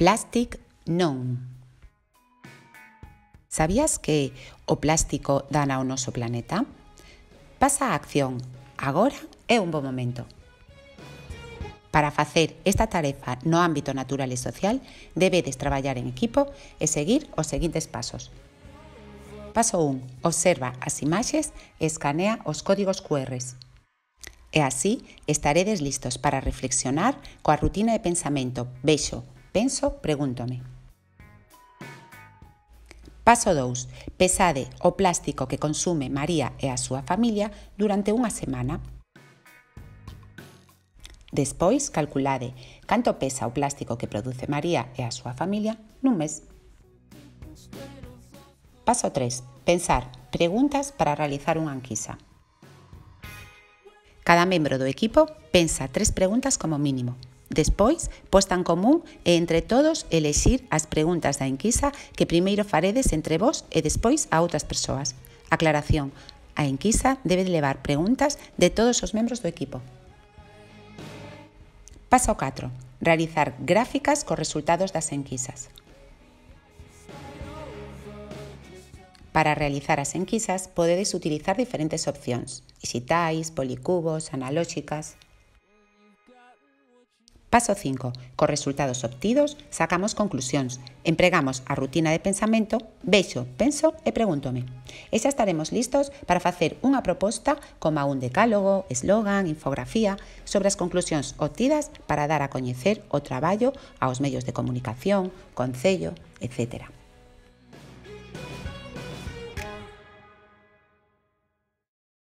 Plastic non. Sabías que o plástico dana ao noso planeta? Pasa a acción. Agora é un bo momento. Para facer esta tarefa no ámbito natural e social, debedes traballar en equipo e seguir os seguintes pasos. Paso 1. Observa as imaxes e escanea os códigos QR. E así estaredes listos para reflexionar coa rutina de pensamento vexo, penso, pregúntome. Paso 2. Pesade o plástico que consume María e a súa familia durante unha semana. Despois, calculade canto pesa o plástico que produce María e a súa familia nun mes. Paso 3. Pensar preguntas para realizar unha enquisa. Cada membro do equipo pensa 3 preguntas como mínimo. Despois, posta en común e entre todos elexir as preguntas da enquisa que primeiro faredes entre vós e despois a outras persoas. Aclaración: a enquisa debe levar preguntas de todos os membros do equipo. Paso 4. Realizar gráficas cos resultados das enquisas. Para realizar as enquisas, podedes utilizar diferentes opcións: dixitais, policubos, analóxicas. Paso 5. Cos resultados obtidos, sacamos conclusións. Empregamos a rutina de pensamento vexo, penso e pregúntome. E xa estaremos listos para facer unha proposta como un decálogo, eslogan, infografía sobre as conclusións obtidas para dar a coñecer o traballo aos medios de comunicación, concello, etc.